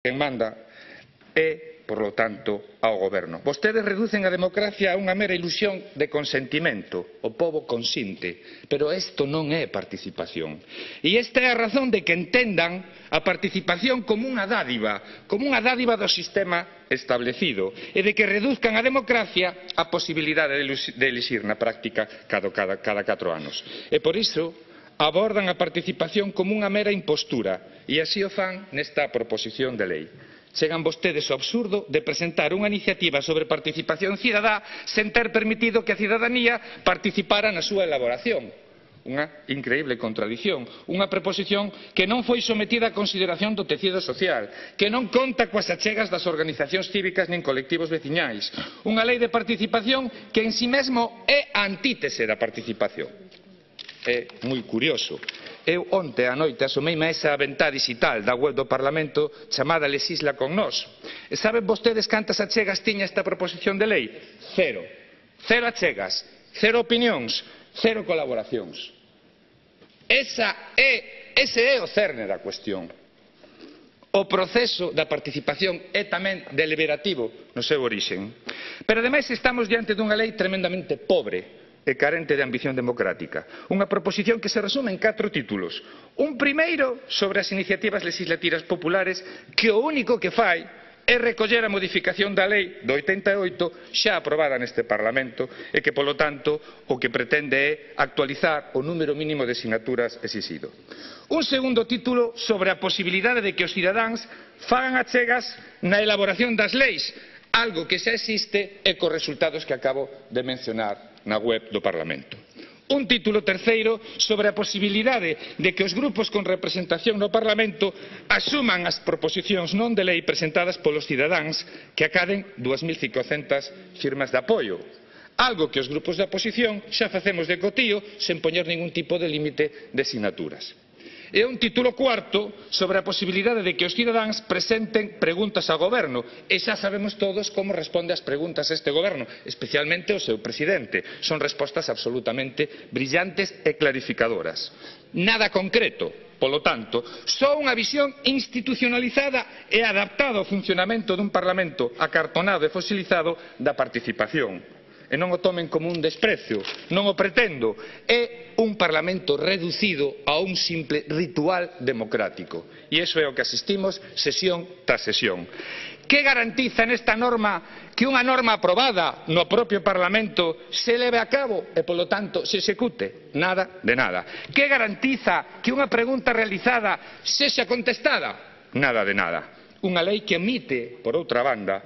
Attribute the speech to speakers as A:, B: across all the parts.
A: quen manda é, por lo tanto, ao goberno. Vostedes reducen a democracia a unha mera ilusión de consentimento. O pobo consinte, pero isto non é participación. E esta é a razón de que entendan a participación como unha dádiva do sistema establecido, e de que reduzcan a democracia a posibilidade de elixir na práctica cada 4 anos. E por iso abordan a participación como unha mera impostura, e así o fan nesta proposición de lei. Chegan vostedes ao absurdo de presentar unha iniciativa sobre participación cidadá sen ter permitido que a cidadanía participara na súa elaboración. Unha increíble contradición, unha proposición que non foi sometida a consideración do tecido social, que non conta coas achegas das organizacións cívicas nin colectivos veciñais, unha lei de participación que en si mesmo é a antítese da participación. É moi curioso. Eu onte á noite asomeime a esa ventá digital da web do Parlamento chamada Lexisla con Nós. E saben vostedes cantas achegas tiña esta proposición de lei? Cero. Cero achegas, cero opinións, cero colaboracións. Ese é o cerne da cuestión. O proceso da participación é tamén deliberativo no seu orixen. Pero ademais estamos diante dunha lei tremendamente pobre e carente de ambición democrática. Unha proposición que se resume en 4 títulos. Un primeiro sobre as iniciativas legislativas populares que o único que fai é recoller a modificación da lei do 88 xa aprobada neste Parlamento e que, polo tanto, o que pretende é actualizar o número mínimo de sinaturas exixido. Un segundo título sobre a posibilidade de que os cidadáns fagan achegas na elaboración das leis, algo que xa existe e cos resultados que acabo de mencionar na web do Parlamento. Un título terceiro sobre a posibilidade de que os grupos con representación no Parlamento asuman as proposicións non de lei presentadas polos cidadáns que acaden 2.500 firmas de apoio, algo que os grupos da oposición xa facemos de cotío sen poñer ningún tipo de límite de sinaturas. E un título cuarto sobre a posibilidade de que os cidadáns presenten preguntas ao goberno, e xa sabemos todos como responde ás preguntas este goberno, especialmente o seu presidente. Son respostas absolutamente brillantes e clarificadoras. Nada concreto, polo tanto, só unha visión institucionalizada e adaptada ao funcionamento dun Parlamento acartonado e fosilizado da participación. E non o tomen como un desprecio, non o pretendo, é un Parlamento reducido a un simple ritual democrático. E iso é o que asistimos sesión tras sesión. Que garantiza nesta norma que unha norma aprobada no propio Parlamento se leve a cabo e, polo tanto, se execute? Nada de nada. Que garantiza que unha pregunta realizada sexa contestada? Nada de nada. Unha lei que omite, por outra banda,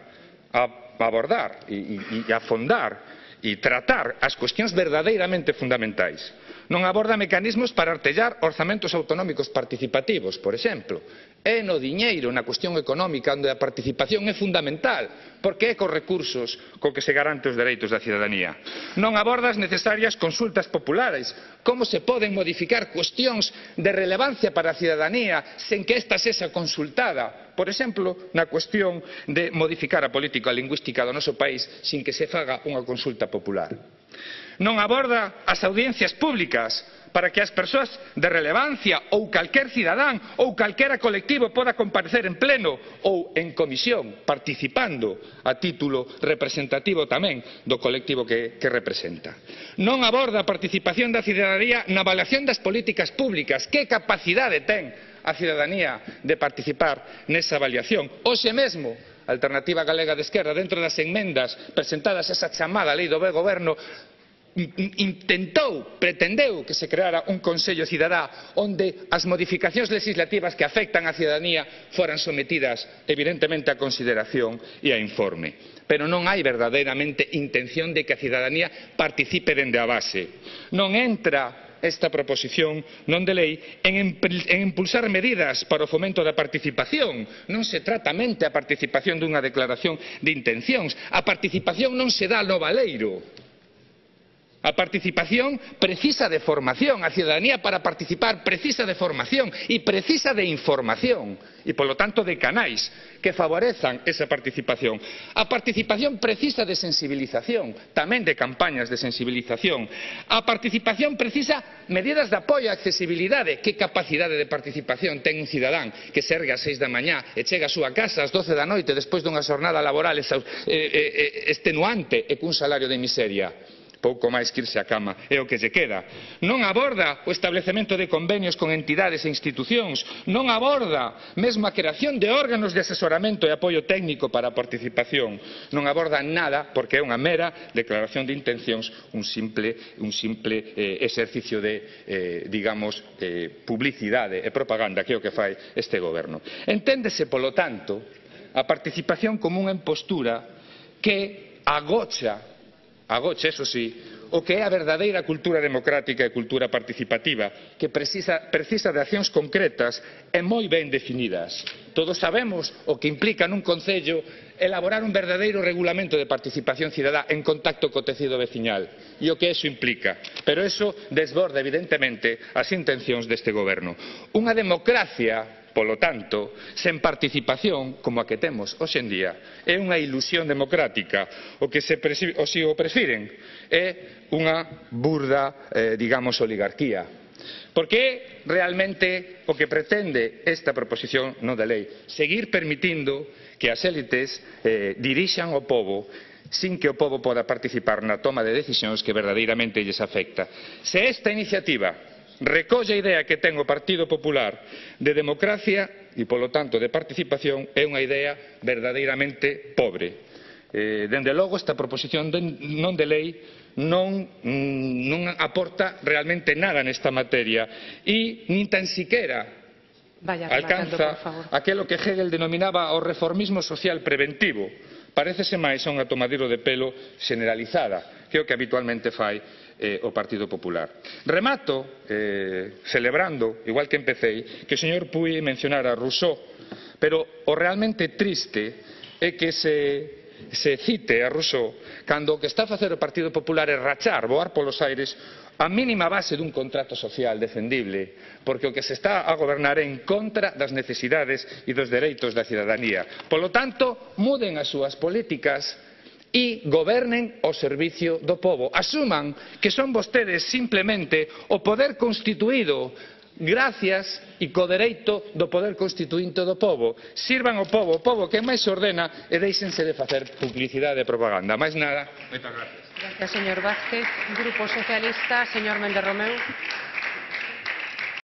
A: a abordar e afondar e tratar as cuestións verdadeiramente fundamentais. Non aborda mecanismos para artellar orzamentos autonómicos participativos, por exemplo. É no diñeiro, na cuestión económica, onde a participación é fundamental, porque é cos recursos co que se garante os dereitos da cidadanía. Non aborda as necesarias consultas populares, como se poden modificar cuestións de relevancia para a cidadanía sen que esta sexa consultada, por exemplo, na cuestión de modificar a política lingüística do noso país sin que se faga unha consulta popular. Non aborda as audiencias públicas para que as persoas de relevancia ou calquer cidadán ou calquera colectivo poda comparecer en pleno ou en comisión, participando a título representativo tamén do colectivo que representa. Non aborda a participación da cidadanía na avaliación das políticas públicas. Que capacidade ten a cidadanía de participar nesa avaliación? Hoxe mesmo, a Alternativa Galega de Esquerda, dentro das enmendas presentadas a esa chamada lei do bo goberno, pretendeu que se creara un Consello Cidadá onde as modificacións legislativas que afectan á cidadanía foran sometidas evidentemente a consideración e a informe. Pero non hai verdadeiramente intención de que a cidadanía participe dende a base. Non entra esta proposición non de lei en impulsar medidas para o fomento da participación. Non se trata mente a participación dunha declaración de intencións. A participación non se dá no baleiro. A participación precisa de formación, a ciudadanía para participar precisa de formación e precisa de información e, polo tanto, de canais que favorezan esa participación. A participación precisa de sensibilización, tamén de campañas de sensibilización. A participación precisa medidas de apoio á accesibilidade. Que capacidade de participación ten un cidadán que se ergue ás 6 da mañá e chega á súa casa ás 12 da noite despois dunha xornada laboral extenuante e cun salario de miseria? Pouco máis que irse á cama é o que lle queda. Non aborda o establecemento de convenios con entidades e institucións, non aborda mesmo a creación de órganos de asesoramento e apoio técnico para a participación, non aborda nada porque é unha mera declaración de intencións, un simple exercicio de, digamos, publicidade e propaganda que é o que fai este goberno. Enténdese, polo tanto, a participación como unha impostura que agocha, eso sí, o que é a verdadeira cultura democrática e cultura participativa, que precisa de accións concretas e moi ben definidas. Todos sabemos o que implica nun concello elaborar un verdadeiro regulamento de participación cidadá en contacto co tecido veciñal e o que eso implica, pero eso desborda evidentemente as intencións deste goberno. Unha democracia, polo tanto, sen participación como a que temos hoxe en día, é unha ilusión democrática. O que se o prefiren é unha burda, digamos, oligarquía. Porque é realmente o que pretende esta proposición non de lei, seguir permitindo que as élites dirixan o pobo sin que o pobo poda participar na toma de decisións que verdadeiramente lles afecta. Se esta iniciativa recolle a idea que ten o Partido Popular de democracia e, polo tanto, de participación, é unha idea verdadeiramente pobre. Dende logo, esta proposición non de lei non aporta realmente nada nesta materia e nin tan siquiera alcanza aquilo que Hegel denominaba o reformismo social preventivo. Parécese máis a unha tomadero de pelo generalizada, que é o que habitualmente fai o Partido Popular. Remato celebrando, igual que empecei, que o señor Puig mencionara a Rousseau, pero o realmente triste é que se cite a Rousseau cando o que está a facer o Partido Popular é rachar, voar polos aires a mínima base dun contrato social defendible, porque o que se está a gobernar é en contra das necesidades e dos dereitos da cidadanía. Polo tanto, muden as súas políticas e gobernen ao servicio do pobo. Asuman que son vostedes simplemente o poder constituído gracias e co dereito do poder constituinte do pobo. Sirvan ao povo, o pobo que máis se ordena, e déixense de facer publicidade e propaganda. Máis nada, moitas gracias.
B: Gracias, señor Vázquez. Grupo Socialista, señor Méndez Romeu.